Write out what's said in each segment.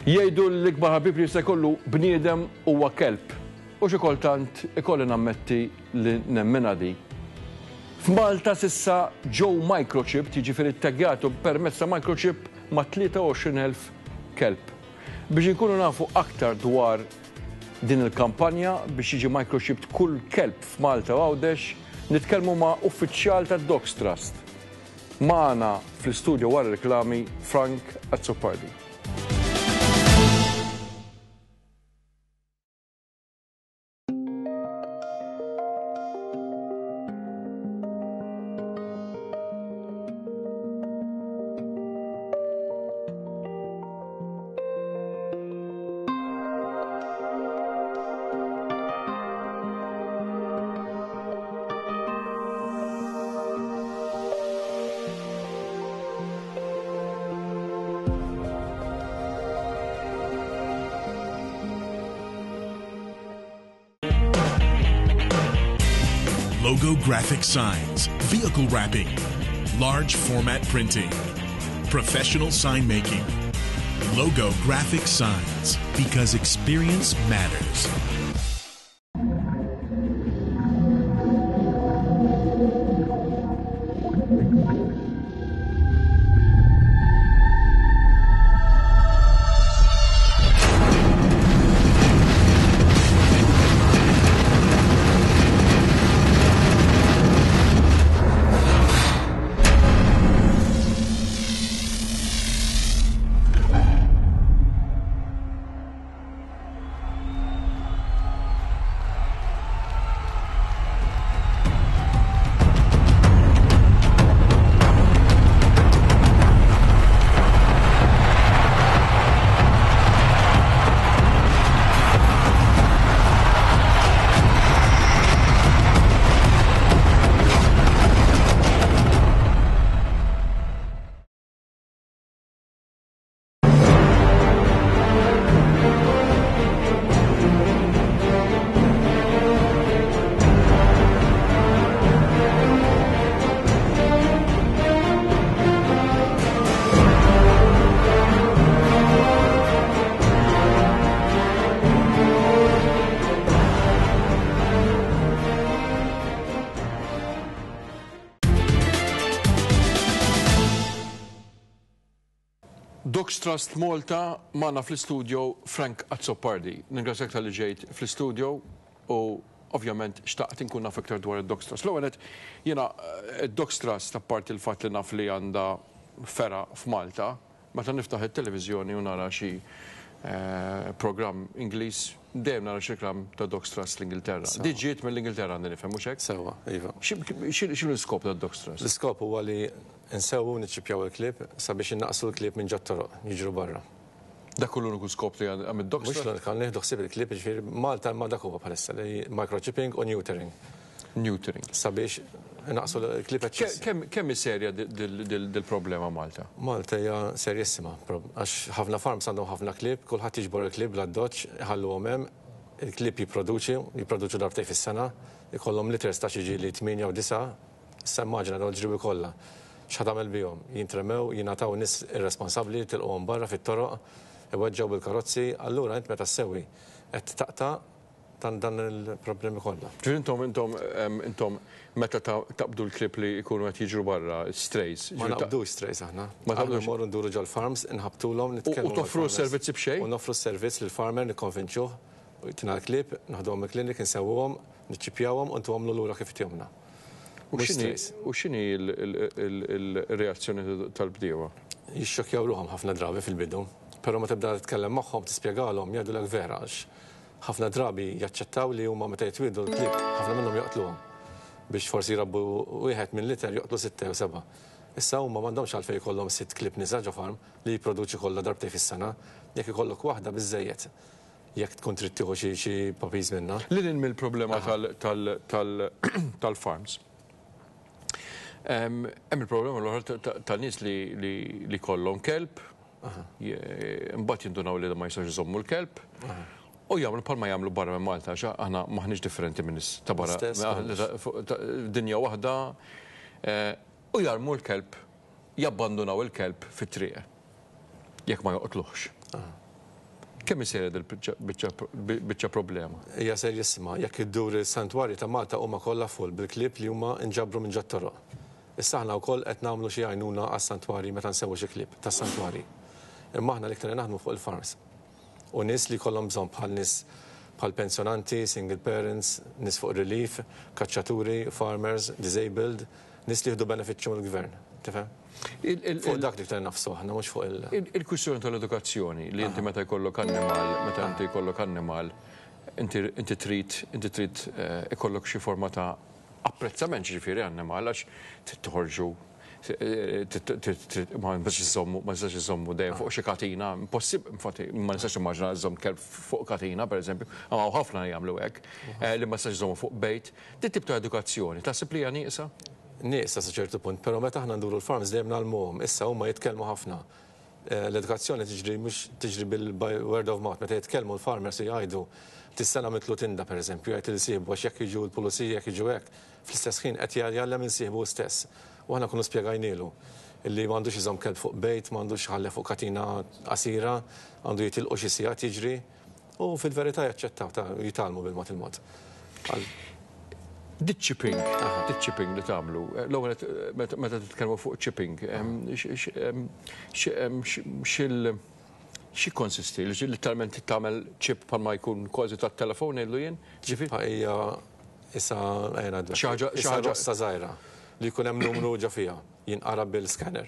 Jgħidu li l-ikbar ħabib li jista' jkollu bniedem huwa kelb. U xi kultant ikolli nammetti li nemminha di. F'Malta s'issa ġew microchipped, jiġifieri ttaggjatu permezz ta' microchip ma' 23,000 kelb. Biex inkunu nafu aktar dwar din il-kampanja biex jiġi microchipped kull kelb f'Malta u Għawdex, nitkellmu ma' uffiċjal tad-Dogs Trust. Magħna fl-istudio wara r-riklami Frank Azzopardi. Logo graphic signs, vehicle wrapping, large format printing, professional sign making. Logo graphic signs, because experience matters. Dogs Trust Malta magħna fl-istudio Frank Azzopardi. Ningrazzjak talli ġejt fl-istudio u ovvjament xtaqt inkun naf iktar dwar id-Dogs Trust. L-ewwel nett jiena id-Dogs Trust apparti l-fatt li naf li għandha fergħa f'Malta, Meta niftaħ it-televiżjoni u nara xi programm Ingliż, dejjem nara xi reklam ta' Dogs Trust l-Ingilterra. Di ġiet mill-Ingilterra għandi nifhem, mhux hekk? Sewwa, iva. X'inhu l-iskop tad-Dogs Trust? L-iskop huwa li nsewwu u niċċippjaw il-klieb sabiex innaqqsu l-klieb minn ġot-toroq jiġru barra. Dak hu l-uniku skop li għam id-Dogs Trust? Mhux l-uniku, nieħdu ħsieb il-klieb, jiġifieri Malta imma dak huwa bħalissa li microchipping u neutering. Neutering. Sabiex inaqqsu l-klieb eċċessivi. Kemm hi serja dil-problema Malta? Malta hija serjissima, għax ħafna farms għandhom ħafna klieb, kulħadd jiġbor il-klieb bl-addoċċ, iħalluhom hemm, il-klieb jipproduċi, jipproduċu darbtejn fis-sena, ikollhom litters ta' xi ġieli tmienja u disgħa, issa immaġina dawn il-ġriewi kollha. X'ħa tagħmel bihom? Jintremew, jingħataw nies irresponsabbli, tilquhom barra fit-toroq, iweġġgħu bil-karozzi, allura int meta ssewwi qed taqta' dan dan il-problemi kollha. Ġifieri intom intom intom meta taqbdu l-klieb li jkunu qed jiġru barra, strays. Ma naqbdux strays aħna. Ma taqbdux. Mmorru nduru ġol-farms, inħabbtulhom, nitkellmu. U toffru s-servizzi b'xejn? U noffru s-servizz lill-farmer nikkonvinċuh, jtina l-klieb, noħduhom mill-klinik, insewwuhom, niċċippjawhom u ntuhomlu lura kif itihomlna. U x'inhi u x'inhi l-reazzjoni tal-bdiewa? Jixxokkjaw ruħhom ħafna drabi fil-bidu. Però meta tibda titkellem magħhom, tispjegalhom, jgħidulek vera għax Ħafna drabi jaċċettaw li huma meta jitwieldu l-klieb, ħafna minnhom joqtluhom. Biex forsi jrabbu wieħed minn litter joqtlu sitta jew sebgħa. Issa huma m'għandhomx għalfejn jkollhom sitt klieb nisa ġo farm li jipproduċi kollha darbtejn fis-sena. Jekk ikollok waħda biżżejjed jekk tkun trid tieħu xi xi puppies minnha. Lil hinn mill-problema tal-farms. Hemm il-problema l-oħra ta' nies li jkollhom kelb Imbagħad jindunaw li ma jistgħux iżommu l-kelb u jagħmlu bħalma jagħmlu barra minn Malta għax aħna m'aħniex differenti minn nies ta' barra. Dinja waħda u jarmu l-kelb, jabbandunaw il-kelb fit-triq jekk ma joqtluhx. Kemm hi serja dil-biċċa problema? Hija serjissima. Jekk iddur is-santwarji ta' Malta huma kollha full bil-klieb li huma nġabru minn ġot-toroq. Issa aħna wkoll qed nagħmlu xi għajnuna għas-santwarji meta nsewwu xi klieb tas-santwarji. Imma aħna l-iktar li naħdmu fuq il-farms. U nies li jkollhom bżonn bħal nies bħal pensjonanti, single parents, nies fuq relief, kaċċaturi, farmers, disabled, nies li jieħdu benefiċċju mill-gvern. Tifhem? Fuq dak l-iktar nagħfsu aħna mhux fuq il. Il-kwistjoni tal-edukazzjoni li inti meta jkollok annimal, meta inti jkollok annimal, inti trid inti trid ikollok xi forma ta' apprezzament jiġifieri annimal għax trid toħorġu ma nistax iżommu ma nistax iżommu dejjem fuq xi katina, impossibbli, infatti ma nistax nimmaġina żżomm kelb fuq katina pereżempju, hawn ħafna li jagħmlu hekk, li ma tistax iżommu fuq bejt. Dit tip ta' edukazzjoni taħseb li hija nieqsa? Nieqsa sa ċertu punt, però meta aħna nduru l-farms dejjem ngħallmuhom. Issa huma jitkellmu ħafna. L-edukazzjoni tiġri mhux tiġri bil by word of mouth. Meta jitkellmu l-farmers u jgħidu tis-sena għamiltlu tinda pereżempju, jgħid lil sieħbu għax jekk jiġu l-pulizija jekk jiġu hekk, fl-istess ħin qed jgħallem lil sieħbu hu stess. U aħna nkunu spjegajnielu li m'għandux iżomm kelb fuq bejt, m'għandux iħallih fuq katina qasira, għandu jitilqu xi sigħat jiġri. U fil-verità jaċċettaw ta' jitgħallmu bil-mod il-mod. Di chipping, di chipping li tagħmlu, l-ewwel meta titkellmu fuq chipping, xil xi konsisti li literalment tagħmel chip bħalma jkun kważi tat-telefon ngħidlu jien? Ġifieri hija issa ejja ngħidlek. Xi ħaġa rossa żgħira li jkun hemm numru ġo fiha, jinqara bil-scanner.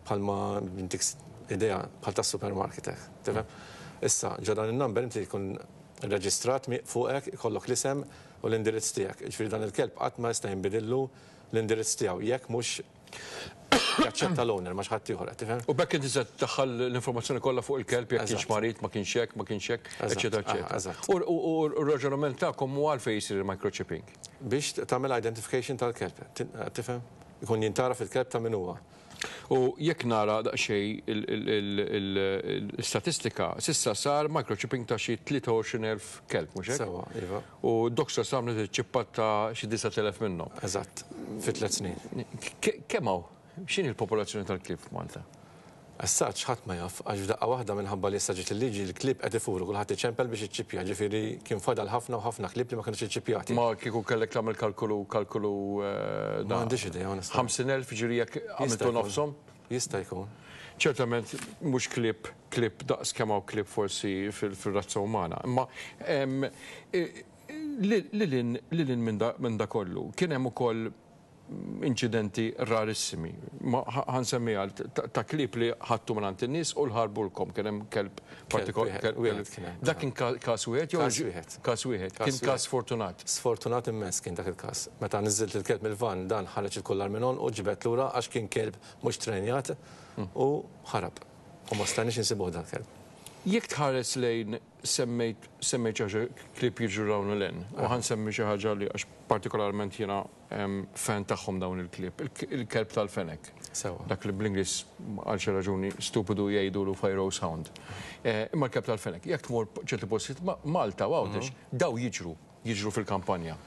Bħalma intik idea bħal tas-supermarket hekk, tifhem? Issa, ġo dan in-number inti jkun reġistrat fuqek, ikollok l-isem u l-indirizz tiegħek. Jiġifieri dan il-kelb qatt ma jista' jinbidillu l-indirizz tiegħu jekk mhux jaċċetta l-owner ma' xi ħadd ieħor, qed tifhem? U b'hekk inti se tdaħħal l-informazzjoni kollha fuq il-kelb jekk kienx marid, ma kienx hekk, ma kienx hekk, eċċetera, eċċetera. Eżatt. U r-raġunament tagħkom huwa għalfejn jsir il-microchipping? Biex tagħmel identification tal-kelb, tifhem? Ikun jintgħaraf il-kelb ta' min huwa. U jekk nara daqsxejn l-istatistika, s'issa sar microchipping ta' xi 23,000 kelb, mhux hekk? Sewwa, iva. U Dogs Trust għamlet iċ-ċippat ta' xi 9,000 minnhom. Eżatt, fi tliet snin. Kemm hawn? X'inhi l-popolazzjoni tal-klieb f'Malta? As such, ħadd ma jaf, għax f'daqqa waħda minħabba li issa ġiet il-liġi, l-klieb qed ifuru, kulħadd iċempel biex iċċippja, ġifieri kien fadal ħafna u ħafna klieb li ma kinux iċċippjati. Ma kieku kellek tagħmel kalkolu, kalkolu dan. Ma għandix idea, onestament. 50,000, ġifieri jekk għamiltu nofshom? Jista' jkun. Ċertament mhux klieb, klieb daqs kemm hawn klieb forsi fir-razza umana. Imma lil hinn, lil hinn minn da kollu, kien hemm ukoll inċidenti rarissimi, ma ħa nsemmiha ta' klieb li ħadtu mingħand in-nies u l-ħarbulkom, kien hemm kelb partikolari. Dak kien każ wieħed jew? Każ wieħed. Każ wieħed. Kien każ sfortunat. Sfortunat immens kien dak il-każ. Meta niżżilt il-kelb mill-vann dan ħareġ il-kullar minn għonqu, ġibed lura għax kien kelb mhux trenjat u ħarab. U ma stajniex insibuh dal-kelb. Jekk tħares lejn semmejt semmejt xi ħaġa klieb jiġru 'l hawn u 'l hinn u ħa nsemmi xi ħaġa li għax partikolarment jiena fan tagħhom dawn il-klieb, il-kelb tal-fenek. Sewwa. Dak li bl-Ingliż għal xi raġuni stupidu jgħidulu Pharaoh's Hound. Imma l-kelb tal-fenek, jekk tmur ċerti postijiet Malta u Għawdex, daw jiġru, jiġru fil-kampanja.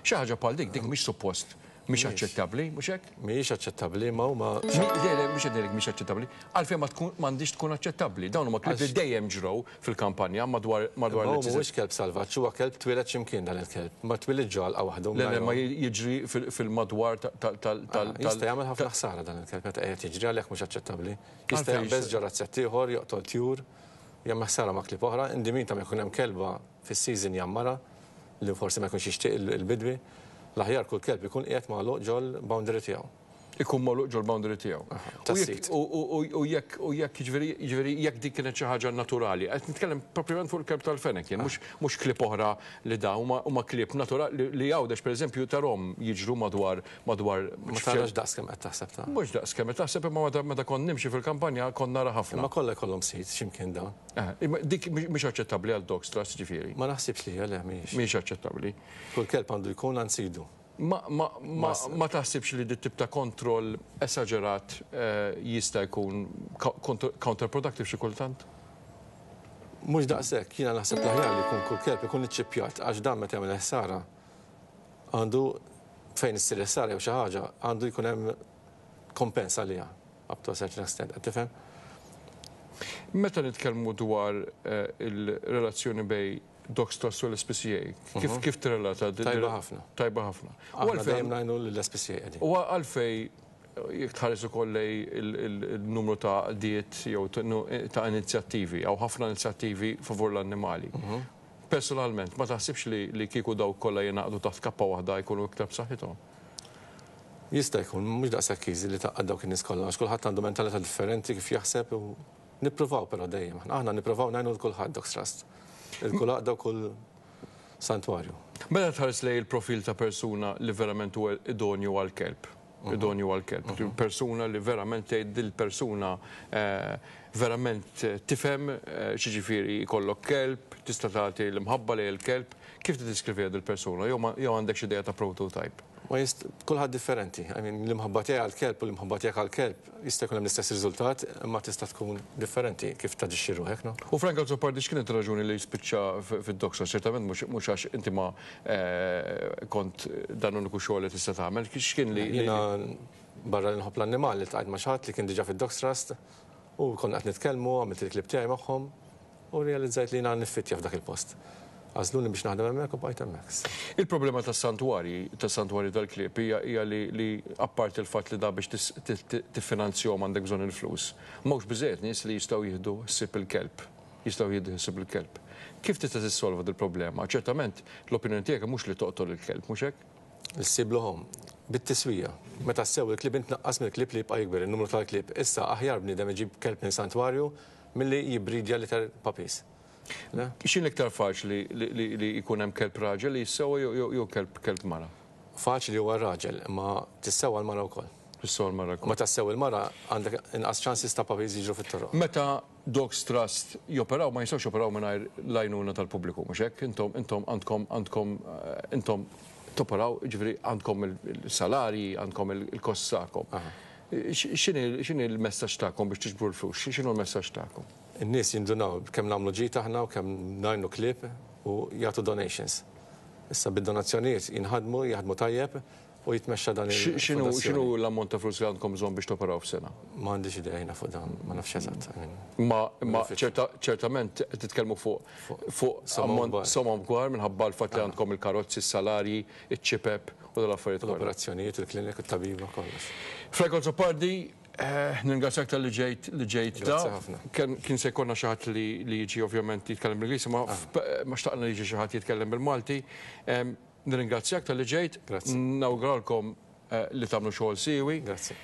Xi ħaġa bħal dik, dik mhix suppost Mhix aċċettabbli, mhux hekk? Mhijiex aċċettabbli, imma huma. Le, le, mhux qed ngħidlek mhix aċċettabbli. Għalfejn ma tkun m'għandhiex tkun aċċettabbli. Dawn huma klieb li dejjem ġrew fil-kampanja madwar madwar Imma hu mhuwiex kelb salvaġġ, huwa kelb twieled xi mkien dan il-kelb. Ma twilidx ġo għalqa waħdu. Le, le, ma jiġri fil-madwar tal tal tal. Jista' jagħmel ħafna ħsara dan il-kelb meta qiegħed jiġri għalhekk mhux aċċettabbli. Jista' jaqbeż ġo razzett ieħor, joqtol tjur, jagħmel ħsara ma' klieb oħra. In the meantime jekk ikun hemm kelba fis-season jgħammarha. li forsi ma jkunx jixtieq il-bidwi, l-aħjar kull kelb ikun qiegħed magħluq ġol-boundary tiegħu. Ikun magħluq ġol-boundary tiegħu. Tas-sit. U jekk u jekk jiġifieri jiġifieri jekk dik kienet xi ħaġa naturali, qed nitkellem proprjament fuq il-kelb tal-fenek jien, mhux mhux klieb oħra li da huma huma klieb naturali li Għawdex pereżempju tarhom jiġru madwar madwar. Ma tarax daqs kemm qed taħseb ta'. Mhux daqs kemm qed taħseb imma meta meta kont nimxi fil-kampanja kont nara ħafna. Imma kollha jkollhom sit xi mkien dawn. Imma dik mhix aċċettabbli għal Dogs Trust ġifieri. Ma naħsibx li hija, le mhijiex. Mhijiex aċċettabbli. Kull kelb għandu jkun għand sidu. Ma, ma, ma, ma taħsibx li dit tip ta' kontroll esaġerat jista' jkun counterproductive xi kultant? Mhux daqshekk, jiena naħseb l-aħjar li jkun kull kelb ikun iċċippjat għax dan meta jagħmel ħsara għandu fejn issir ħsara jew xi ħaġa għandu jkun hemm kompens għaliha. Up to a certain extent, qed tifhem? Meta nitkellmu dwar il-relazzjoni bejn Dogs Trust u l-SPCA, kif kif tirrelata? Tajba ħafna. Tajba ħafna. U għalfejn dejjem ngħinu lill-SPCA qegħdin. U għalfejn jekk tħares ukoll lejn il-numru ta' għaqdiet jew ta' inizjattivi, hawn ħafna inizjattivi favur l-annimali. Personalment, ma taħsibx li kieku dawk kollha jingħaqdu taħt kappa waħda jkunu iktar b'saħħithom? Jista' jkun, mhux daqshekk easy li tgħaqqad dawk in-nies kollha għax kulħadd għandu mentalità differenti kif jaħseb u nippruvaw però dejjem. Aħna nippruvaw ngħinu lil kulħadd Dogs Trust. Lil kull għaqda u kull santwarju. Meta tħares lejn il-profil ta' persuna li verament huwa idonju għall-kelb, idonju għall-kelb, persuna li verament tgħid dil-persuna verament tifhem x'jiġifieri jkollok kelb, tista' tagħti l-imħabba lejn il-kelb, kif tiddeskriviha dil-persuna jew għandek xi idea ta' prototype? Ma jist, kulħadd differenti. I mean, l-imħabba tiegħi għall-kelb u l-imħabba tiegħek għall-kelb jista' jkun hemm l-istess riżultat, imma tista' tkun differenti kif taġixxi ruħek, no? U Frank Azzopardi x'kienet ir-raġuni li spiċċa fid-Dogs Trust? Ċertament mhux għax inti ma kont dan l-uniku xogħol li tista' tagħmel. X'kien li. Jiena barra li nħobb l-annimali ltqajt ma' xi ħadd li kien diġà fid-Dogs Trust u konna qed nitkellmu, għamilt il-klieb tiegħi magħhom. U rrealizzajt li jiena niffittja f'dak il-post. Għażluni biex naħdem hemmhekk u bqajt hemmhekk. Il-problema tas-santwarji, tas-santwarji tal-klieb hija hija li li apparti l-fatt li da biex tiffinanzjahom għandek bżonn il-flus, m'hawnx biżżejjed nies li jistgħu jieħdu ħsieb il-kelb, jistgħu jieħdu ħsieb il-kelb. Kif tista' tissolva dil-problema? Ċertament, l-opinjoni tiegħek mhux li toqtol il-kelb, mhux hekk? Issiblu home. Bit-tiswija. Meta ssewwi l-klieb int tnaqqas mill-klieb li jibqa' jikber in-numru tal-klieb. Issa aħjar bniedem iġib kelb minn santwarju Milli jibbridja litter puppies. Le? X'inhi l-iktar faċli li jkun hemm kelb raġel li jissewwa jew kelb kelb mara? Faċli huwa r-raġel, imma tissewwa l-mara wkoll. Tissewwa l-mara wkoll. Meta ssewwi l-mara għandek inqas chances ta' puppies jiġru fit-toroq. Meta Dogs Trust joperaw ma jistgħux joperaw mingħajr l-għajnuna tal-pubbliku, mhux hekk? Intom intom għandkom għandkom intom toperaw, jiġifieri għandkom il-salarji, għandkom il-costs tagħkom. X'inhi l-messaġġ tagħkom biex tiġbru l-flus? X'inhu l-messaġġ tagħkom? In-nies jindunaw kemm nagħmlu ġid aħna u kemm ngħinu klieb u jagħtu donations. Issa bid-donazzjonijiet jinħadmu, jaħdmu tajjeb u jitmexxa dan il. X'inhu l-ammont ta' flus li għandkom bżonn biex toperaw f'sena? Ma għandix idea jiena fuq dan, ma nafx eżatt. Imma imma ċertament qed titkellmu fuq fuq somom kbar minħabba l-fatt li għandkom il-karozzi, is-salarji, iċ-ċipep u dal-affarijiet kollha. L-operazzjonijiet, il-klinik, it-tabiba, kollox. Frank Azzopardi, nirringrazzjak talli ġejt li ġejt da. Grazzi ħafna. Kien se jkollna xi ħadd li jiġi ovvjament jitkellem bl-Ingliż, imma ma xtaqna li jiġi xi ħadd jitkellem bil-Malti. Nirringrazzjak talli ġejt. Grazzi. Nawguralkom li tagħmlu xogħol siewi. Grazzi.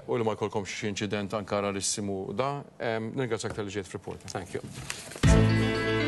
U li ma jkollkomx xi inċident anke rarissimu da. Nirringrazzjak talli ġejt f'Reporter. Thank you.